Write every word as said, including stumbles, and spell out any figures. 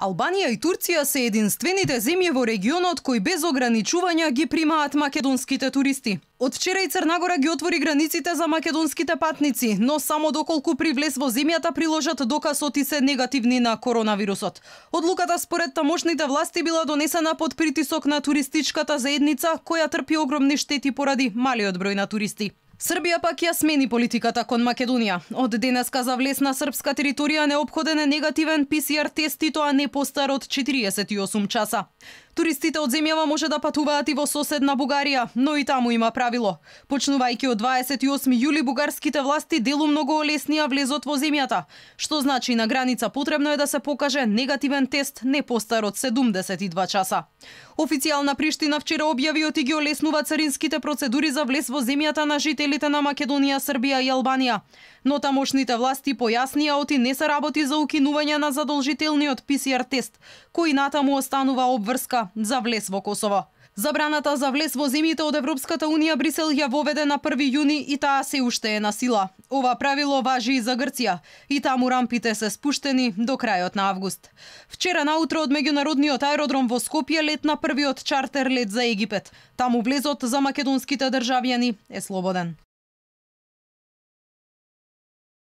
Албанија и Турција се единствените земји во регионот кои без ограничувања ги примаат македонските туристи. Од вчера и Црна Гора ги отвори границите за македонските патници, но само доколку при влез во земјата приложат доказ и се негативни на коронавирусот. Одлуката според тамошните власти била донесена под притисок на туристичката заедница која трпи огромни штети поради малиот број на туристи. Србија пак ја смени политиката кон Македонија. Од денеска за влез на српска територија неопходен е негативен пи си ар тест и тоа не постар од четириесет и осум часа. Туристите од земјава може да патуваат и во соседна Бугарија, но и таму има правило. Почнувајќи од дваесет и осми јули бугарските власти делумно го олеснија влезот во земјата, што значи на граница потребно е да се покаже негативен тест не постар од седумдесет и два часа. Официјална Приштина вчера објави и ги олеснува царинските процедури за влез во земјата на жителите на Македонија, Србија и Албанија. Но тамошните власти појаснија оти не се работи за укинување на задолжителниот пи си ар тест, кој натаму останува обврска за влез во Косово. Забраната за влез во земјите од Европската унија Брисел ја воведе на први јуни и таа се уште е на сила. Ова правило важи и за Грција, и таму рампите се спуштени до крајот на август. Вчера наутро од меѓународниот аеродром во Скопје летна првиот чартер лет за Египет. Таму влезот за македонските државјани е слободен.